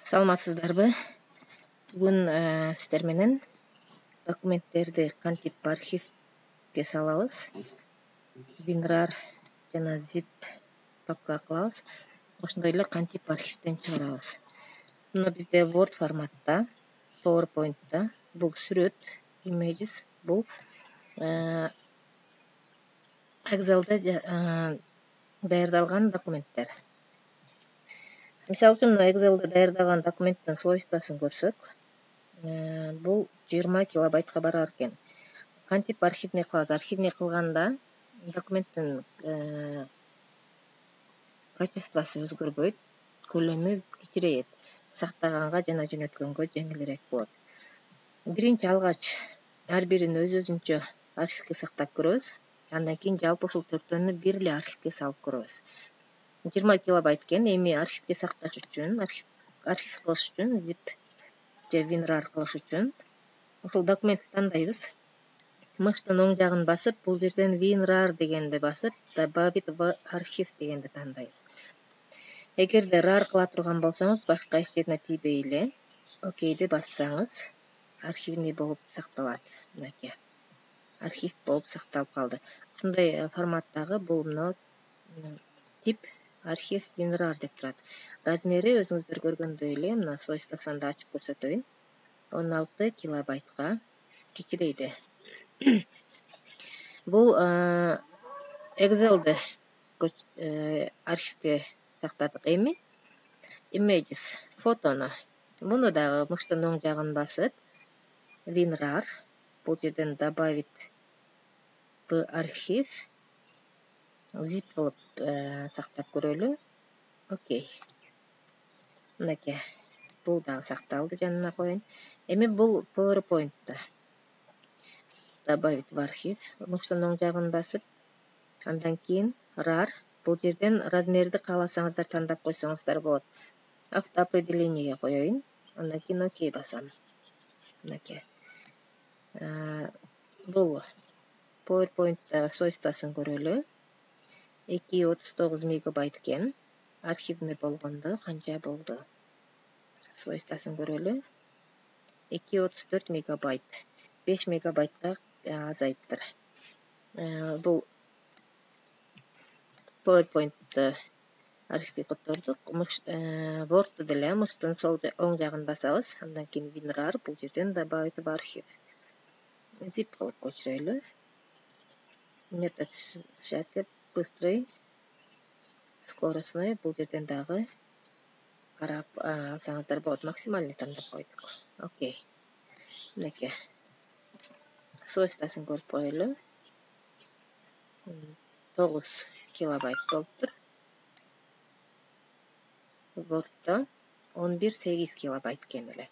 Саламатсыздарбы? Бүгүн сиздер менен документтерди кантип архивге салабыз, WinRAR жана zip папка кылабыз, ошондой эле кантип архивден чыгарабыз. Мына бизде Word форматта, PowerPoint'та бул сүрөт, images, бул Excel'de даярдалган документтер. Мисалы үчүн Excel'de даярдалган документтин свойствосын көрсөк, бул 20 килобайтка барар экен. Кантип архивный кылабыз? Архивный кылганда документтин качествосу өзгөрбөйт, көлөмү кичирейет. Сактаганга жана жөнөткөнгө жеңилирээк болот. Биринчи алгач ар бирин өз-өзүнчө архивге сактап көрөбүз. Андан кийин жалпы ушул төртөөнү бир эле архивге салып көрөбүз. 20 килобайт экен, эми архивге сакташ үчүн, архив кылыш үчүн, zip же WinRAR кылыш үчүн ушул документти тандайбыз. Мыштын оң жагын басып, бул жерден WinRAR дегенди басып, добавить в архив дегенди тандайбыз. Эгерде RAR кыла турган болсоңуз, башка эч жерине тийбей эле окейди бассаңыз, архивный болуп сакталат. Мынакей. Архив болуп сакталып калды. Ушундай форматтагы бул мына тип архив WinRAR деп турат. Размери өзүңүздөр көргөндөй эле, мына свойствосун да ачып көрсөтөйүн. 16 килобайтка кичирейди. Бул Excel'de архивге сактадык. Эми images, фотону. Муну дагы мыштын оң жагын басып, WinRAR, бул жерден добавить в архив, zip кылып сактап көрөлү. Окей. Мынакей. Бул дагы сакталды, жанына коеюн. Эми бул PowerPoint'та. Добавить в архив, мыштын оң жагын басып, андан кийин RAR, бул жерден размерди кааласаңыздар тандап койсоңуздар болот. Автоопределениеге коеюн, андан кийин окей басам. Мынакей. Бул PowerPoint'тагы свойствосын көрөлү. 239 мегабайт экен. Архивный болгондо канча болду? Свойствосын көрөлү. 234 мегабайт. 5 мегабайтка азайыптыр. Бул PowerPoint'ты архивге котордук. Word'ду деле мыштын оң жагын басабыз, андан кийин WinRAR, бул жерден добавить в архив. Zip кылып көчүрөлү. Метод сжатия быстрый, скоростной, бул жерден дагы карап алсаңыздар болот. Максимальный тандап койдук. Окей. Мынакей. Свойствосын көрүп коелу. 9 килобайт болуптур. Word'да 11-8 килобайт экен эле.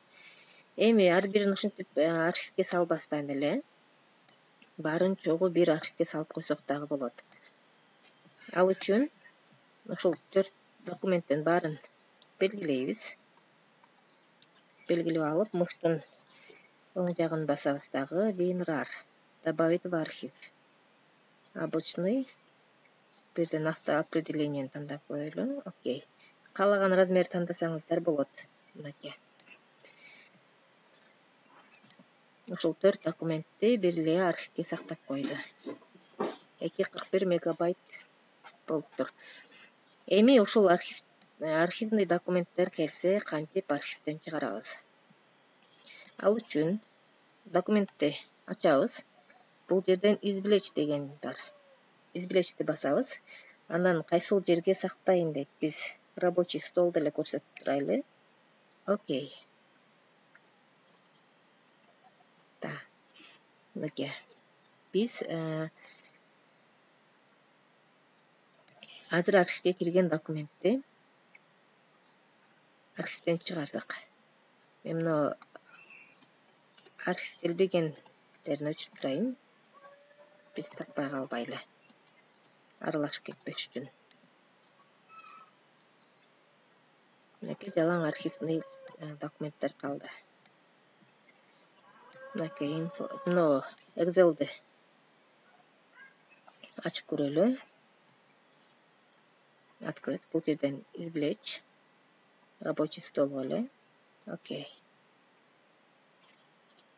Эми ар бирин ушинтип архивге салбастан эле баарын чогуу бир архивге салып койсок дагы болот. Ал үчүн ушул 4 документтин баарын белгилейбиз. Белгилеп алып, мыштын оң жагын басабыз дагы WinRAR, добавить в архив. Обычный, бирден автоопределениени тандап коелу. Окей. Каалаган размер тандасаңыздар болот. Мынакей. Ушул 4 документти бир эле архивге сактап койду. 241 мегабайт болуптур. Эми ушул архивный документтер келсе, кантип архивден чыгарабыз? Ал үчүн документти ачабыз. Бул жерден извлечь деген бар. Извлечьти басабыз. Анан кайсыл жерге сактайын дейт. Биз рабочий стол деле көрсөтүп турайлы. Окей. Мынакей. Биз азыр архивге кирген документти архивден чыгардык. Мен мына архивделбегендерин өчүрүп турайын. Биз таппай калбайлы. Аралашып кетпеш үчүн. Мынакей жалаң архивный документтер калды. Мынакей мына Excel'ди ачып көрөлү. Открыть, бул жерден извлечь, рабочий стол эле. Окей.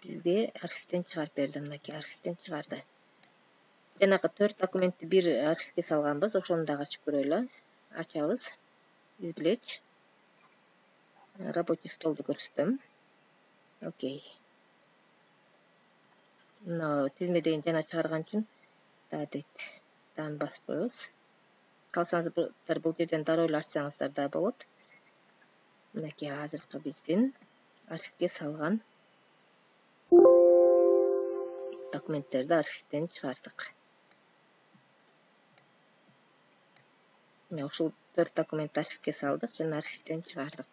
Бизге архивден чыгарып берди, мынакей архивден чыгарды. Жанагы 4 документти бир архивге салганбыз, ошону дагы ачып көрөлү. Ачабыз. Извлечь. Рабочий столду көрсөтөм. Окей. Мына тизмеден жана чыгарган үчүн дейт. Дан басып коебуз. Калсаңыздар бул жерден дароо эле ачсаңыздар да болот. Мынакей азыркы биздин архивге салган документтерди архивден чыгардык. Мына ушул 4 документти архивге салдык жана архивден чыгардык.